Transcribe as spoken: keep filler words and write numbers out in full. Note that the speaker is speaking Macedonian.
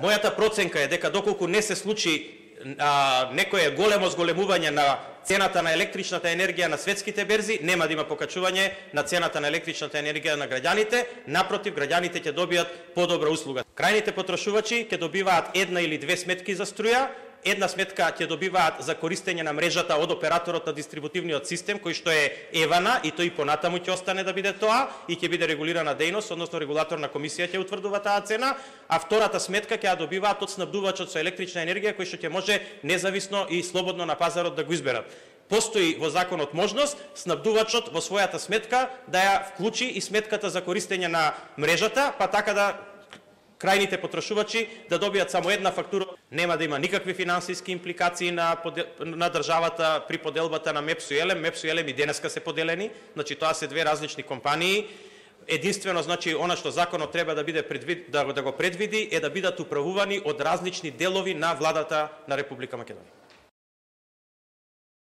Мојата проценка е дека доколку не се случи а, некое големо зголемување на цената на електричната енергија на светските берзи, нема да има покачување на цената на електричната енергија на граѓаните, напротив, граѓаните ќе добијат подобра услуга. Крајните потрошувачи ќе добиваат една или две сметки за струја, една сметка ќе добиваат за користење на мрежата од операторот на дистрибутивниот систем, кој што е Евана, и тој понатаму ќе остане да биде тоа и ќе биде регулирана дејност, односно регулаторна комисија ќе утврдува таа цена, а втората сметка ќе ја добиваат од снабдувачот со електрична енергија, кој што ќе може независно и слободно на пазарот да го изберат. Постои во законот можност снабдувачот во својата сметка да ја вклучи и сметката за користење на мрежата, па така да крајните потрошувачи да добијат само една фактура. Нема да има никакви финансиски импликации на, на државата при поделбата на МЕПС и ЕЛЕМ. МЕПС и ЕЛЕМ и денеска се поделени, значи тоа се две различни компании. Единствено, значи, она што законот треба да биде предвид, да, да го предвиди е да бидат управувани од различни делови на владата на Република Македонија.